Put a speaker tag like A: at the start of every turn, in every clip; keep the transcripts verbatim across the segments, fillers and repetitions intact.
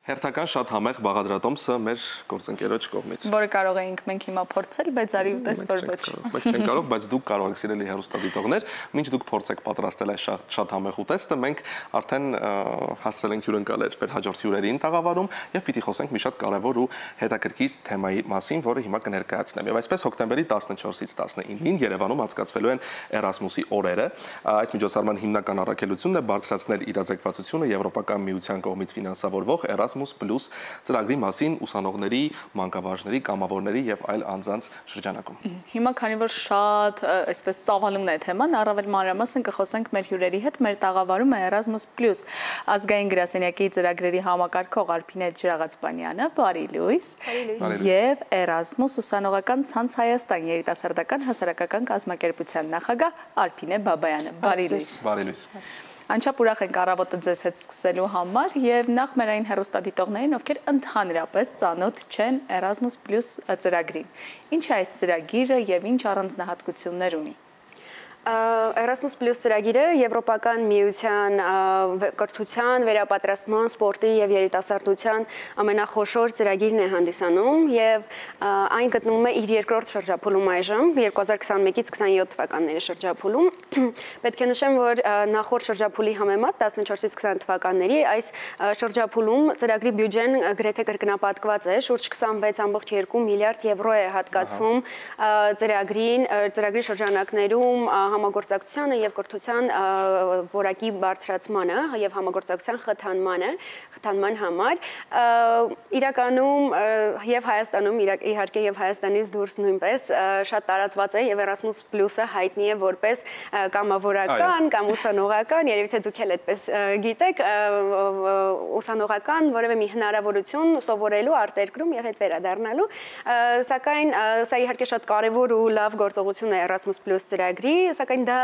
A: Հերթական շատ համեղ բաղադրատոմսը մեր գործընկերոջ կողմից։
B: Որը կարող էինք մենք հիմա փորձել, բայց արի ուտես որ ոչ։
A: Մենք չենք կարող, բայց դուք կարող եք սիրելի հեռուստադիտողներ, մինչ դուք փորձեք պատրաստել այս շատ համեղ ուտեստը, մենք արդեն հասցրել ենք հյուրընկալել մեր հաջորդ հյուրերին տաղավարում եւ պիտի խոսենք մի շատ կարեւոր ու հետաքրքիր թեմայի մասին, որը հիմա կներկայացնեմ։ Եվ այսպես հոկտեմբերի տասնչորսից տասնինին Երևանում անցկացվելու են Էրասմուսի օրերը։ Այս միջոցառման հիմնական առաքելությունն է բարձրացնել իրազեկվածությունը Եվրոպական միության կողմից ֆինանսավորվող Erasmus Plus ծրագրի մասին ուսանողների, մանկավարժների, կամավորների եւ այլ անձանց շրջանակում։
B: Հիմա քանի որ շատ այսպես ծավալուն է թեման, առավել մանրամասն կխոսենք մեր հյուրերի հետ, մեր տաղավարում է Erasmus Plus ազգային գրասենյակի ծրագրերի համակարգող Արփինե Ջրաղացպանյանը, բարի լույս, եւ Erasmus ուսանողական ցանց Հայաստան երիտասարդական հասարակական կազմակերպության նախագահ Արփինե Բաբայանը, բարի լույս։
A: Բարի լույս։
B: Անչափ ուրախ ենք առավոտը ձեզ հետ սկսելու համար եւ նախ մեր այն հեռուստադիտողներին, ովքեր ընդհանրապես ծանոթ չեն Erasmus Plus ծրագրին։ Ինչ է այս ծրագիրը եւ ինչ առանձնահատկություններ ունի։
C: Erasmus Plus ծրագիրը Եվրոպական միության կրթության, վերապատրաստման, սպորտի եւ երիտասարդության ամենախոշոր ծրագիրն է հանդիսանում եւ այն գտնվում է իր երկրորդ շրջափուլում այժմ երկու հազար քսանմեկից քսանյոթ թվականների շրջափուլում։ Պետք է նշեմ, որ նախորդ շրջափուլի համեմատ տասնչորսից քսան թվականների այս շրջափուլում ծրագրի բյուջեն գրեթե կրկնապատկված է, շուրջ քսանվեց ամբողջ երկու միլիարդ եվրո է հատկացվում ծրագրին, ծրագրի շրջանակներում համագործակցությանը եւ կրթության որակի բարձրացմանը եւ համագործակցության խթանմանը, խթանման համար իրականում եւ Հայաստանում իհարկե եւ Հայաստանից դուրս նույնպես շատ տարածված է եւ Erasmus Plus-ը հայտնի է որպես կամավորական կամ ուսանողական, երևի թե դուք էլ այդպես գիտեք, ուսանողական որևէ մի հնարավորություն սովորելու արտերկրում եւ հետ վերադառնալու, սակայն սա իհարկե շատ կարեւոր ու լավ գործողություն է Erasmus Plus ծրագրի, սակայն դա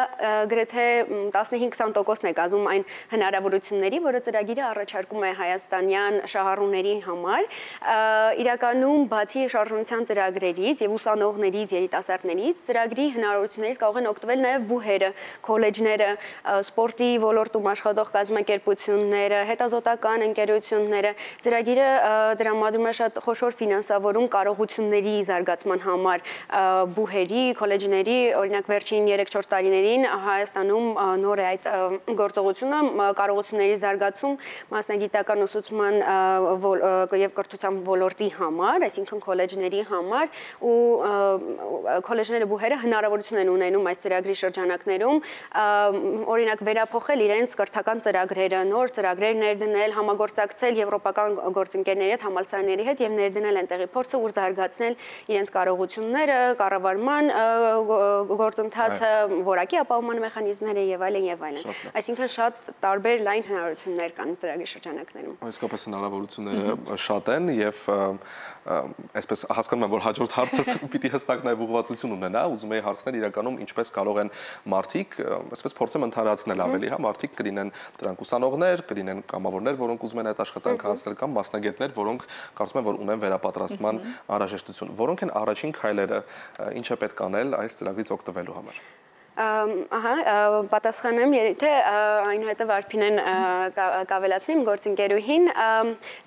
C: գրեթե տասնհինգ քսան տոկոսն է կազմում այն հնարավորությունների, որը ծրագիրը առաջարկում է հայաստանյան շահառուների համար։ Իրականում բացի շարժունության ծրագրերից եւ ուսանողներից, երիտասարդներից, ծրագրի հնարավորություններից կարող են օգտվել նաեւ բուհերը, քոլեջները, սպորտի ոլորտում աշխատող կազմակերպությունները, հետազոտական ընկերությունները։ Ծրագիրը դրամադրում է շատ խոշոր ֆինանսավորում կարողությունների զարգացման համար բուհերի, քոլեջների, օրինակ վերջին երեք-չորս տարիներին Հայաստանում նոր է այդ գործողությունը կարողությունների զարգացում մասնագիտական ուսուցման եւ կրթության ոլորտի համար, այսինքն քոլեջների համար ու քոլեջները բուհերը հնարավորություն են ունենում այս ծրագրի շրջանակներում օրինակ վերափոխել իրենց կրթական ծրագրերը, նոր ծրագրեր ներդնել, համագործակցել եվրոպական գործընկերների հետ, համալսարանների հետ եւ ներդնել այնտեղի փորձը ու զարգացնել իրենց կարողությունները, կառավարման գործընթացը, որակի ապահովման մեխանիզմները եւ այլն եւ այլն։ Այսինքն շատ տարբեր լայն հնարավորություններ կան ծրագրի շրջանակներում։
A: Իսկապես հնարավորությունները շատ են եւ այսպես հասկանում եմ, որ հաջորդ հարցս պիտի հստակ նաեւ ուղղվածություն ունենա, ուզում եի հարցնել իրականում ինչպես կարող են մարդիկ, այսպես փորձեմ ընդհանրացնել ավելի, հա, մարդիկ կլինեն դրանք ուսանողներ, կլինեն կամավորներ, որոնք ուզում են այդ աշխատանքը անցնել կամ մասնագետներ, որոնք կարծում են, որ ունեն վերապատրաստման անհրաժեշտություն։ Որոնք են առաջին քայլերը, ինչ է պետք անել այս ծրագրից օգտվելու համար։
C: Ահա, պատասխանեմ, եթե այնուհետև Արփինեն կավելացնի իմ գործընկերուհին,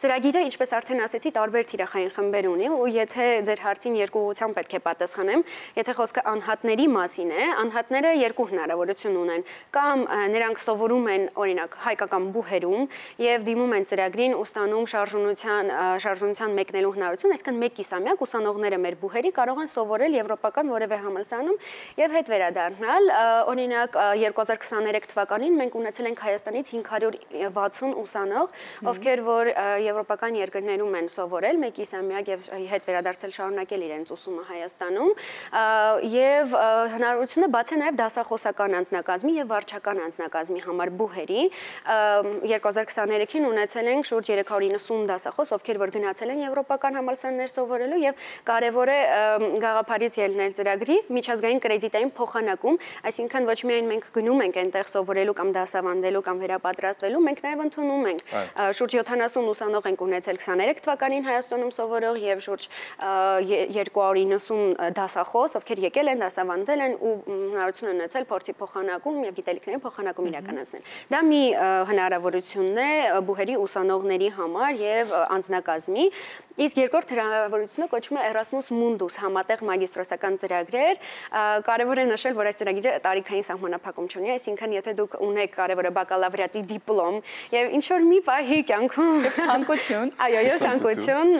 C: ծրագիրը, ինչպես արդեն ասեցի, տարբեր թիրախային խմբեր ունի ու եթե ձեր հարցին երկու ուղղությամբ պետք է պատասխանեմ, եթե խոսքը անհատների մասին է, անհատները երկու հնարավորություն ունեն, կամ նրանք սովորում են, օրինակ, հայկական բուհերում եւ դիմում են ծրագրին ու ստանում շարժունության շարժունության մեկնելու հնարավորություն, այսինքն մեկ կիսամյակ ուսանողները մեր բուհերի կարող են սովորել եվրոպական որևէ համալսարանում եւ հետ վերադառնալ օրինակ երկու հազար քսաներեք թվականին մենք ունեցել ենք Հայաստանից հինգ հարյուր վաթսուն ուսանող, ովքեր որ եվրոպական երկրներում են սովորել, մեկ կիսամյակ եւ հետ վերադարձել շարունակել իրենց ուսումը Հայաստանում եւ հնարավորությունը բաց է նաեւ դասախոսական անձնակազմի եւ վարչական անձնակազմի համար բուհերի երկու հազար քսաներեքին ունեցել ենք շուրջ երեք հարյուր իննսուն դասախոս, ովքեր որ գնացել են եվրոպական համալսարաններ սովորելու եւ կարեւոր է գաղափարից ելնել ծրագրի միջազգային կրեդիտային փոխանակում այսինքն ոչ միայն մենք գնում ենք այնտեղ սովորելու կամ դասավանդելու կամ վերապատրաստվելու, մենք նաև ընդունում ենք շուրջ յոթանասուն ուսանող ենք ունեցել քսաներեք թվականին Հայաստանում սովորող եւ շուրջ երկու հարյուր իննսուն դասախոս, ովքեր եկել են, դասավանդել են ու հնարավորություն են ունեցել փորձի փոխանակում եւ գիտելիքների փոխանակում իրականացնել։ Դա մի հնարավորությունն է բուհերի ուսանողների համար եւ անձնակազմի, իսկ երկրորդ հնարավորությունը կոչվում է Erasmus Mundus համատեղ մագիստրոսական ծրագրեր։ Կարևոր է նշել, որ այս ծրագիրը տարիքային սահմանափակում չունի, այսինքն եթե դուք ունեք կարևորը բակալավրիատի դիպլոմ եւ ինչ որ մի պահի կյանքում ցանկություն, այո, եւ ցանկություն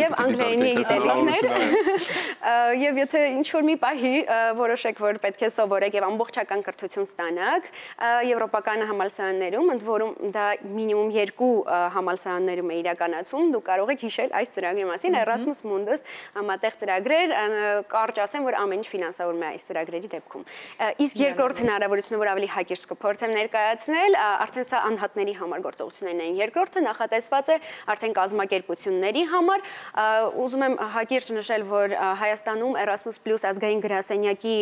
C: եւ անգլերենի գիտելիքներ եւ եթե ինչ որ մի պահի որոշեք, որ պետք է սովորեք եւ ամբողջական կրթություն ստանաք եվրոպական համալսարաններում, ընդ որում դա մինիմում երկու համալսարաններում է իրականացում, դուք կարող եք հիշել այս ծրագրի մասին, Erasmus Mundus համատեղ ծրագրեր, կարճ ասեմ, որ ամեն ինչ ֆինանսավորվում է այս ծրագրերի դեպքում։ Իսկ երկրորդ հնարավորությունը, որ ավելի հակիրճ կփորձեմ ներկայացնել, արդեն սա անհատների համար գործողություններն են։ Երկրորդը նախատեսված է արդեն կազմակերպությունների համար։ Ուզում եմ հակիրճ նշել, որ Հայաստանում Erasmus Plus ազգային գրասենյակի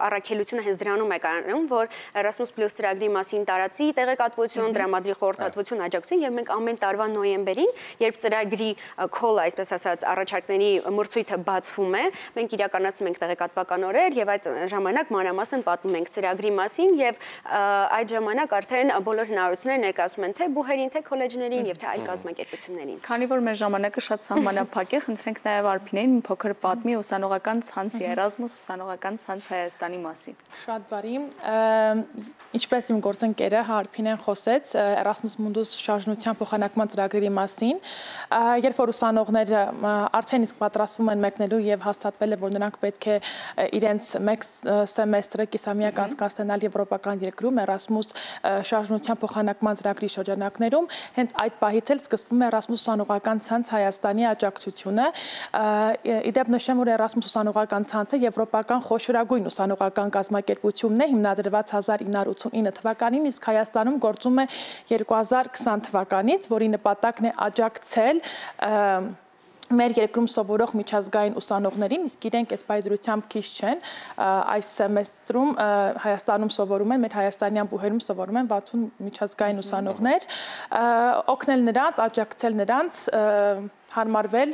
C: առաքելությունը հենց դրանում է կայանում, որ Erasmus Plus ծրագրի մասին տարածի տեղեկատվություն, տրամադրի խորհրդատվություն, աջակցություն եւ մենք ամեն տարվա նոյեմբերին, երբ ծրագրի call, այսպես ասած, առաջարկների մրցույթը բացվում է, մենք իրականացնում ենք տեղեկատվական օրեր եւ այդ ժամանակ մանրամասն պատմում ենք ծրագրի մասին եւ այդ ժամանակ արդեն բոլոր հնարավորությունները ներկայացում են թե բուհերին, թե քոլեջներին եւ թե այլ կազմակերպություններին։
B: Քանի որ մեր ժամանակը շատ սահմանափակ է, խնդրենք նաեւ Արփինեին մի փոքր պատմի ուսանողական ցանցի Erasmus ուսանողական ցանց Հայաստանի մասին։
D: Շատ բարի։ Ինչպես իմ գործընկերը Արփինեն խոսեց Erasmus Mundus շարժնության փոխանակման ծրագրերի մասին, երբ որ ուսանողները արդեն իսկ պատրաստվում են մեկնելու եւ հաստատվել է, որ նրանք պետք է իրենց մեկ սեմեստրը կիսամյակ անցկացնել եվրոպական երկրում Erasmus շարժնության փոխանակման ծրագրի շրջանակներում, հենց այդ պահից էլ սկսվում է Erasmus ուսանողական ցանց Հայաստանի աջակցությունը։ Իդեպ նշեմ, որ Erasmus ուսանողական ցանցը եվրոպական խոշորագույն ուսանողական կազմակերպությունն է, հիմնադրված հազար ինը հարյուր ութսունինը թվականին, իսկ Հայաստանում գործում է երկու հազար քսան թվականից, որի նպատակն է աջակցել մեր երկրում սովորող միջազգային ուսանողներին, իսկ իրենք այս պայծրությամբ քիչ չեն, այս սեմեստրում Հայաստանում սովորում են, մեր հայաստանյան բուհերում սովորում են վաթսուն միջազգային ուսանողներ, օգնել նրանց, աջակցել նրանց հարմարվել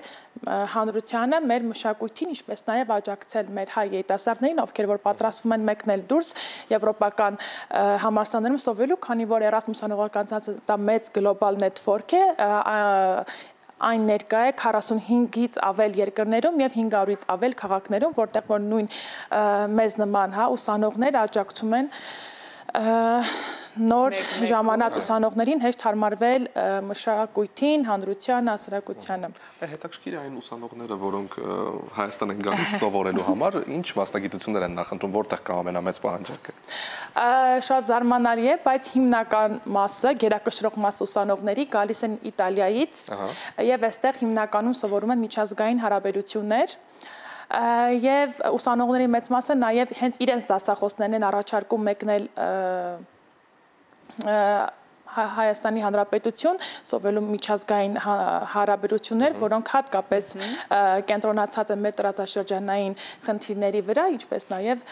D: հանրությանը, մեր մշակույթին, ինչպես նաև աջակցել մեր հայ երիտասարդներին, ովքեր որ պատրաստվում են մեկնել դուրս եվրոպական համալսարաններում սովորելու, քանի որ Erasmus ուսանողական ցանցը դա մեծ գլոբալ նետվորք է, այն ներկա է քառասունհինգից ավել երկրներում եւ հինգ հարյուրից ավել քաղաքներում, որտեղ որ նույն մեզ նման հա ուսանողներ աջակցում են նոր ժամանած ուսանողներին հեշտ հարմարվել մշակույթին, հանրությանը, հասարակությանը։
A: Հետաքրքիր է այն ուսանողները, որոնք Հայաստան են գալիս սովորելու համար, ինչ մասնագիտություններ են նախընտրում, որտեղ կա ամենամեծ պահանջարկը։
D: Շատ զարմանալի է, բայց հիմնական մասը, գերակշռող մասը ուսանողների գալիս են Իտալիայից եւ այստեղ հիմնականում սովորում են միջազգային հարաբերություններ եւ ուսանողների մեծ մասը նաեւ հենց իրենց դասախոսներն են առաջարկում մեկնել Հայաստանի Հանրապետություն սովորելու միջազգային հարաբերություններ, որոնք հատկապես կենտրոնացած են մեր տարածաշրջանային խնդիրների վրա, ինչպես նաեւ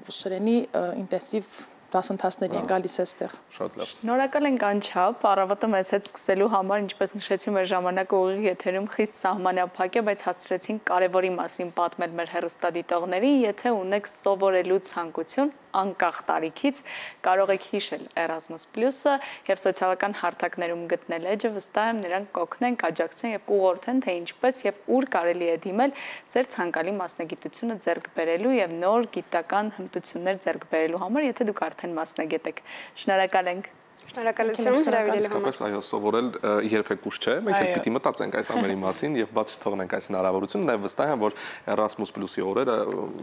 D: ռուսերենի ինտենսիվ դասընթացների են գալիս այստեղ։
A: Շատ լավ։
B: Շնորհակալ ենք անչափ, առավոտը մեզ հետ սկսելու համար, ինչպես նշեցի, մեր ժամանակը ուղիղ եթերում խիստ սահմանափակ է, բայց հասցրեցինք կարևորի մասին պատմել մեր հեռուստադիտողներին, եթե ունեք սովորելու ցանկություն, անկախ տարիքից, կարող եք հիշել Erasmus Plus-ը եւ սոցիալական հարթակներում գտնել էջը, վստահ եմ նրանք կօգնեն, կաջակցեն եւ կուղղորդեն, թե ինչպես եւ ուր կարելի է դիմել ձեր ցանկալի մասնագիտությունը ձեռք բերելու եւ նոր գիտական հմտություններ ձեռք բերելու համար, եթե դուք արդեն մասնագետ եք։ Շնորհակալ ենք։
C: Շնորհակալություն հրավիրելու համար։
A: Իսկապես այո, սովորել երբեք ուշ չէ, մենք էլ պիտի մտածենք այս ամենի մասին եւ բաց չթողնենք այս հնարավորությունը, նաեւ վստահ եմ, որ Erasmus Plus-ի օրերը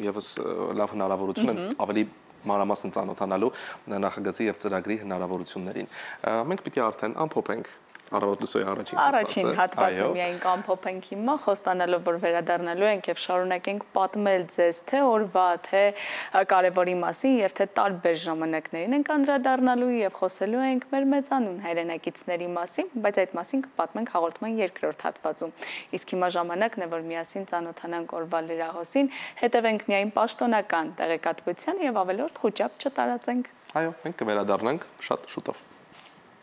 A: եւս լավ հնարավորություն են ավելի մանրամասն ծանոթանալու նախագծի եւ ծրագրի հնարավորություններին։ Մենք պիտի արդեն ամփոփենք Առավոտ լսոյի առաջին
B: Առաջին հատվածը միայն կամփոփենք հիմա, խոստանալով, որ վերադառնալու ենք եւ շարունակենք պատմել ձեզ թե օրվա, թե կարևորի մասին եւ թե տարբեր ժամանակներին ենք անդրադառնալու եւ խոսելու ենք մեր մեծանուն հայրենակիցների մասին, բայց այդ մասին կպատմենք հաղորդման երկրորդ հատվածում։ Իսկ հիմա ժամանակն է, որ միասին ծանոթանանք օրվա լրահոսին, հետևենք միայն պաշտոնական տեղեկատվության եւ ավելորդ խոճապ չտարածենք։
A: Այո, մենք կվերադառնանք շատ շուտով։